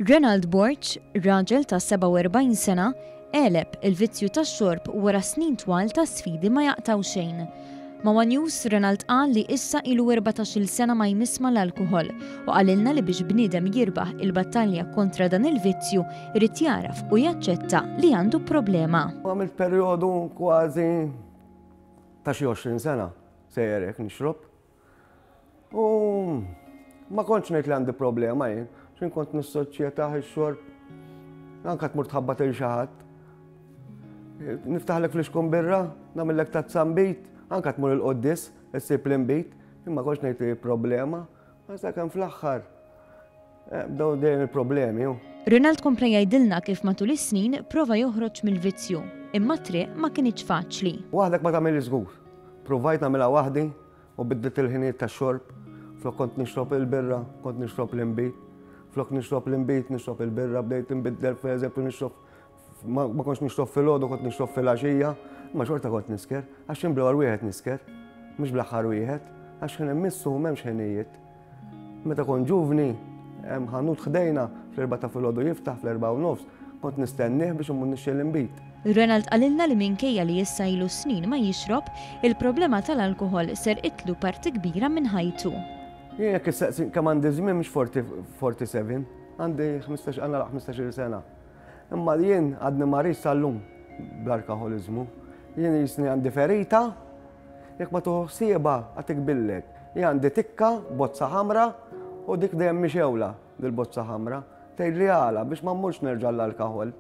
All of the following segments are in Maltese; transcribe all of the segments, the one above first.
Renald Borg, raġel ta' 47 sena, għeleb il-vizzju tax-xorb wara snin twal ta' sfidi ma jaqtgħu xejn. Ma' one News, Renald qal li issa ilu 14-il sena ma jmiss mal-alkoħol u qalilna li biex bniedem jirbaħ il-battalja kontra dan il-vizzju irid jagħraf u jaċċetta li għandu problema. Għamilt perjodu kważi ta' xi 20 sena sejjer hekk nixrob. U ma kontx ngħid li għandi problema jien, x'in kont nissoċjetà ix-xorb. Anka tmur tħabbat il xi ħadd. Niftaħlek flixkun birra, nagħmellek tazza nbid, anka tmur il-qoddis, issib l-inbid, imma kontx ngħid li problema, ma sakemm fl-aħħar eh, bdew dejjem il-problemi. Ronald kompla jgħidilna kif matul is-snin prova joħroġ mill-vizzju, imma t-triq ma kinitx faċli. Waħdek ma tagħmilx żgur. Provajt nagħmilha waħdi, U biddilt il-ħinijiet tax-xorb. Flok kont nixrob il-birra, kont nixrob l-inbid. Flok nixrob l-inbid, nixrob il-birra, bdejt inbiddel pereżempju nixrob ma kontx nixrob filgħodu, kont nixrob filgħaxija, imma xorta kont nisker, għax jien bl-ewwel wieħed nisker, mhux bl-aħħar wieħed, għax ħin immissu m'hemmx ħinijiet. Meta kont ġuvni, hemm ħanut ħdejna fl-erbgħa ta' filgħodu jiftaħ fl-erbgħa u nofs, kont nistennieh biex immur nixtri l-inbid. Ronald qalilna li minkejja li issa ilu snin ma jixrob, il-problema tal-alkoħol serqitlu parti kbira minn ħajtu. Jien jekk issaqsini kemm għandi żmien mhux 47, għandi 15 għandna 15-il sena. Imma jien għadni marid sal-lum bl-alkoħoliżmu. Jien jisni għandi ferita Jekk ma tieħu ħsiebha għad tikbillek. Jien għandi tikka, bozza ħamra, u dik dejjem mixewla, dil-bozza ħamra. Tgħidli għala biex ma mmurx nerġa' l-alkoħol.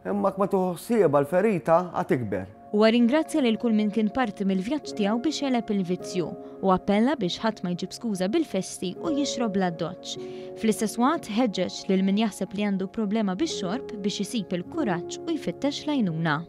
Imma jekk ma tieħu ħsiebha l-ferita għad tikber. Huwa rringrazzja lil kull min kien parti mill-vjaġġ tiegħu biex għeleb il-vizzju u appella biex ħadd ma jġib skuża bil-festi u jixrob bl-addoċċ. Fl-istess waqt ħeġġeġ lil min jaħseb li għandu problema bix-xorb biex isib il-kuraġġ u jfittex l-għajnuna.